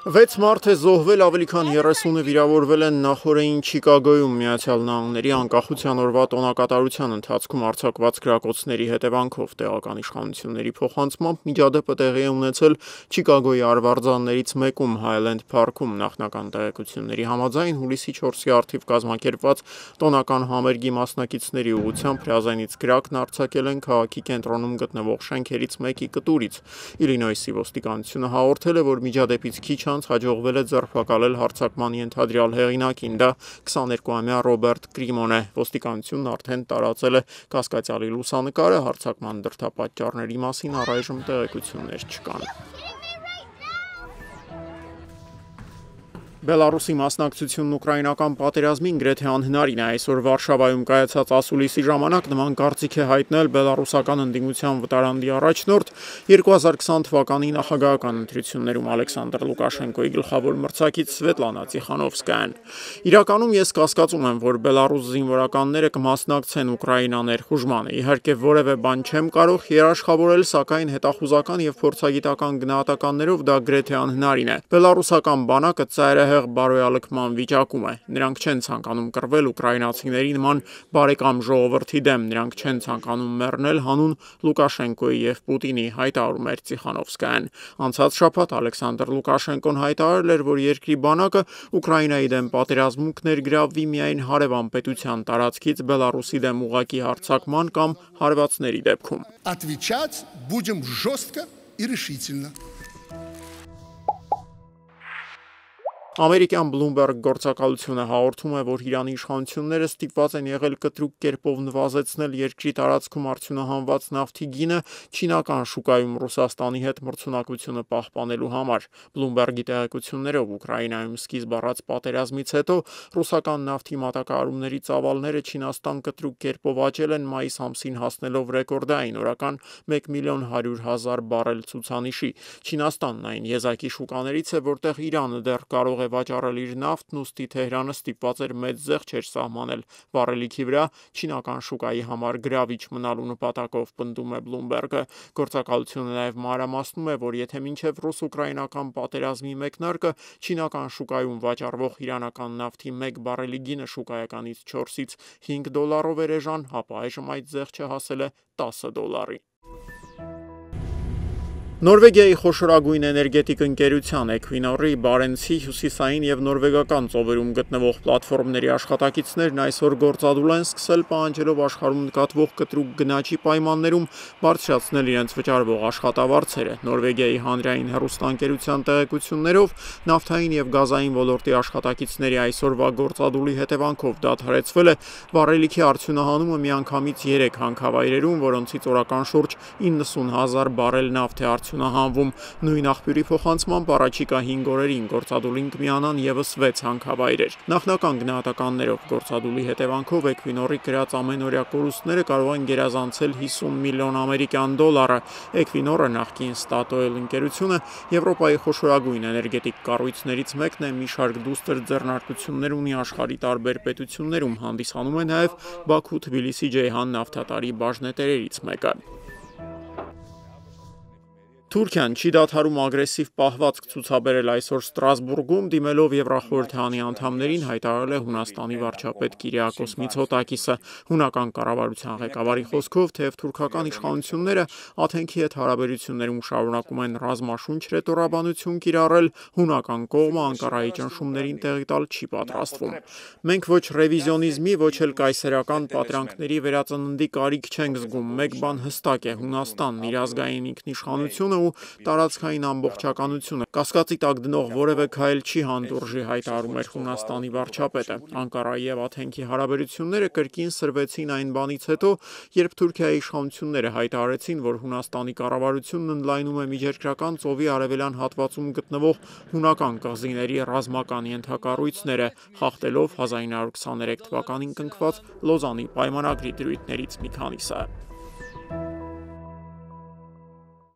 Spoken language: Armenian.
6 մարդ է զոհվել, ավելի քան 30-ը վիրավորվել են նախօրեին Չիկագոյում ԱՄՆ-ի անկախության օրվա տոնակատարության ընթացքում արձակված գրակոծների հետևանքով տեղական իշխանությունների փոխանցմամբ միջադեպը տեղի է ունեցել Չիկագոյի արվարձաններից մեկում Հայլենդ Փարքում նախնական տեղեկությունների համաձայն հուլիսի 4-ի առթիվ կազմակերպված տոնական համերգի մասնակիցների ուղղությամբ հրազենից գրակն արձակել են քաղաքի կենտրոնում գտնվող շենքերից մեկի կտուրից։ Իլինոյսի ոստիկանությունը հաղորդել է, որ միջադեպից քիչ անց հաջողվել է ձերբակալել հարձակման ենթադրյալ հեղինակին, դա 22-ամյա Ռոբերտ Կրիմոն է։ Ոստիկանությունն արդեն տարածել է կասկածյալի լուսանկարը, հարձակման դրդապատճառների մասին առայժմ տեղեկություններ չկան։ Բելարուսի մասնակցությունն ուկրաինական պատերազմին գրեթե անհնարին է։ Այսօր Վարշավայում կայացած ասուլիսի ժամանակ նման կարծիք է հայտնել բելարուսական ընդդիմության վտարանդի առաջնորդ 2020 թվականի նախագահական ընտրություններում Ալեքսանդր Լուկաշենկոյի գլխավոր մրցակից Սվետլանա Տիխանովսկայան։ Իրականում ես կասկածում եմ, որ բելարուս զինվորականները կմասնակցեն Ուկրաինա ներխուժմանը։ Իհարկե որևէ բան չեմ կարող երաշխավորել, սակայն հետախուզական եւ փորձագիտական գնահատականներով դա գրեթե անհնարին է։ Բելարուսական բանակը ծայրահեղ բարոյալքման վիճակում է։ Նրանք չեն ցանկանում կռվել ուկրաինացիների նման բարեկամ ժողովրդի դեմ, նրանք չեն ցանկանում մեռնել հանուն Լուկաշենկոյի եւ Պուտինի, հայտարարում էր Տիխանովսկայան։ Անցած շաբաթ Ալեքսանդր Լուկաշենկոն հայտարարել էր, որ երկրի բանակը Ուկրաինայի դեմ պատերազմում կներգրավվի միայն հարևան պետության տարածքից Բելարուսի դեմ ուղղակի հարձակման կամ հարվածների դեպքում։ Отвечать будем жестко и решительно. Ամերիկյան Bloomberg գործակալությունը հաղորդում է, որ Իրանի իշխանությունները ստիպված են եղել կտրուկ կերպով նվազեցնել երկրի տարածքում արդյունահանված նավթի գինը չինական շուկայում Ռուսաստանի հետ մրցունակությունը պահպանելու համար։ Bloomberg-ի տեղեկություններով Ուկրաինայում սկիզբ առած պատերազմից հետո ռուսական նավթի մատակարարումների ծավալները Չինաստան կտրուկ կերպով աճել են մայիս ամսին հասնելով ռեկորդային օրական 1.100.000 բարել ցուցանիշի։ Չինաստանն այն եզակի շուկաներից է, որտեղ Իրանը դեռ կարող է վաճառել իր նավթն, ուստի Թեհրանը ստիպված էր մեծ զեղչեր սահմանել վառելիքի վրա չինական շուկայի համար գրավիչ մնալու նպատակով, պնդում է Bloomberg-ը։ Գործակալությունը նաև մանրամասնում է, որ եթե մինչև ռուս-ուկրաինական պատերազմի մեկնարկը չինական շուկայում վաճառվող իրանական նավթի 1 բարելի գինը շուկայականից 4-ից 5 դոլարով էր էժան, ապա այժմ այդ զեղչը հասել է 10 դոլարի։ Նորվեգիայի խոշորագույն էներգետիկ ընկերության Equinor-ի Բարենցի հյուսիսային եւ նորվեգական ծովերում գտնվող պլատֆորմների աշխատակիցներն այսօր գործադուլ են սկսել պահանջելով աշխարհում նկատվող կտրուկ գնաճի պայմաններում բարձրացնել իրենց վճարվող աշխատավարձերը։ Նորվեգիայի հանրային հեռուստաընկերության տեղեկություններով նավթային եւ գազային ոլորտի աշխատակիցների այսօրվա գործադուլի հետևանքով դադարեցվել է վառելիքի արդյունահանումը միանգամից 3 հանքավայրերում, որոնցից օրական շուրջ 90,000 բարել նավթ է արդյունահանվում։ Նույն աղբյուրի փոխանցմամբ առաջիկա 5 օրերին գործադուլին կմիանան եւս 6 հանքավայրեր։ Նախնական գնահատականներով գործադուլի հետևանքով Equinor-ի գրած ամենօրյա կորուստները կարող են գերազանցել 50 միլիոն ամերիկյան դոլարը։ Equinor-ը նախկին Statoil ընկերությունը Եվրոպայի խոշորագույն էներգետիկ կառույցներից մեկն է, մի շարք դուստր ձեռնարկություններ ունի աշխարհի տարբեր պետություններում, հանդիսանում է նաև Բաքու-Թբիլիսի-Ջեյհան նավթատարի բաժնետերերից մեկը։ Թուրքիան չի դադարում ագրեսիվ պահվածք ցուցաբերել այսօր Ստրասբուրգում, դիմելով Եվրախորհրդանի անդամներին, հայտարարել է Հունաստանի վարչապետ Կիրիակոս Միցոտակիսը։ Հունական կառավարության ղեկավարի խոսքով, թեև թուրքական իշխանությունները Աթենքի հետ հարաբերություններում շարունակում են ռազմաշունչ ռետորաբանություն կիրառել, հունական կողմը Անկարայի ճնշումներին տեղի տալ չի պատրաստվում։ Մենք ոչ ռևիզիոնիզմի, ոչ էլ կայսերական պատրանքների վերածննդի կարիք չենք զգում։ Մեկ բան հստակ է՝ Հունաստանն իր ազգային ինքնիշխանությունը ու տարածքային ամբողջականությունը կասկածի տակ դնող որևէ քայլ չի հանդուրժի, հայտարարում էր Հունաստանի վարչապետը։ Անկարայի եւ Աթենքի հարաբերությունները կրկին սրվեցին այն բանից հետո, երբ Թուրքիայի իշխանությունները հայտարարեցին, որ Հունաստանի կառավարությունն ընդլայնում է Միջերկրական ծովի արևելյան հատվածում գտնվող հունական կղզիների ռազմական ենթակառույցները, խախտելով 1923 թվականին կնքված Լոզանի պայմանագրի դրույթներից մի քանիսը։